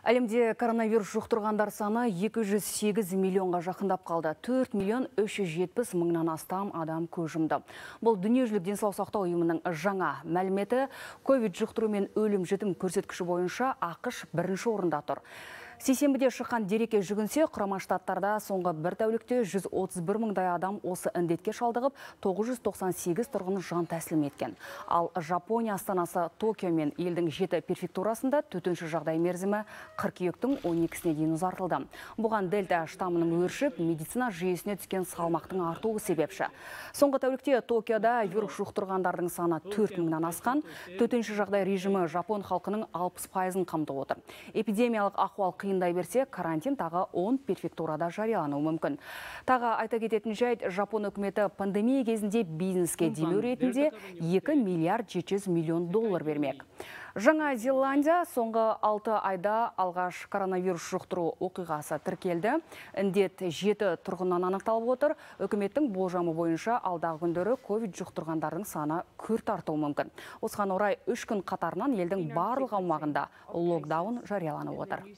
Әлемде коронавирус жұқтырғандар саны 208 миллионға жақындап қалды. 4 миллион 370 мыңнан астам адам көз жұмды. Бұл дүниежүзілік денсаулық сақтау ұйымының жаңа мәліметі. Ковид жұқтыру мен өлім жітім көрсеткіші бойынша ақш бірінші орында тұр. Сейсенбіде шыққан дерекке жүгінсе, Құрама Штаттарда соңғы бір тәулікте 131 мыңдай адам осы індетке шалдығып, 998 тұрғын жан тәсілім еткен. Ал Жапония астанасы Токио мен елдің 7 префектурасында төтенше жағдай мерзімі қыркүйектің 12-сіне дейін ұзартылды. Бұған дельта штамының өршіп, медицина жүйесіне түскен салмақтың артуы себепші. Соңғы тәулікте Токиода вирус жұқтырғандардың саны 4 мыңнан асқан. Төтенше жағдай режимі Жапон халқының 60%-ын қамтып отыр. Эпидемиялық ахуал қиындай берсе, карантин тағы 10 префектурада жариялануы мүмкін. Тағы айта кететін жайт, Жапон үкіметі пандемия кезінде бизнеске демеу ретінде 2 миллиард 700 миллион доллар бермек. Жаңа Зеландия соңғы 6 айда алғаш коронавирус жұқтыру оқиғасы тіркелді. Індет 7 тұрғыннан анықталып отыр. Үкіметтің болжамы бойынша алдағы күндері ковид жұқтырғандардың саны күрт артуы мүмкін. Осыған орай 3 күн қатарынан елдің барлық аумағында локдаун жарияланып отыр.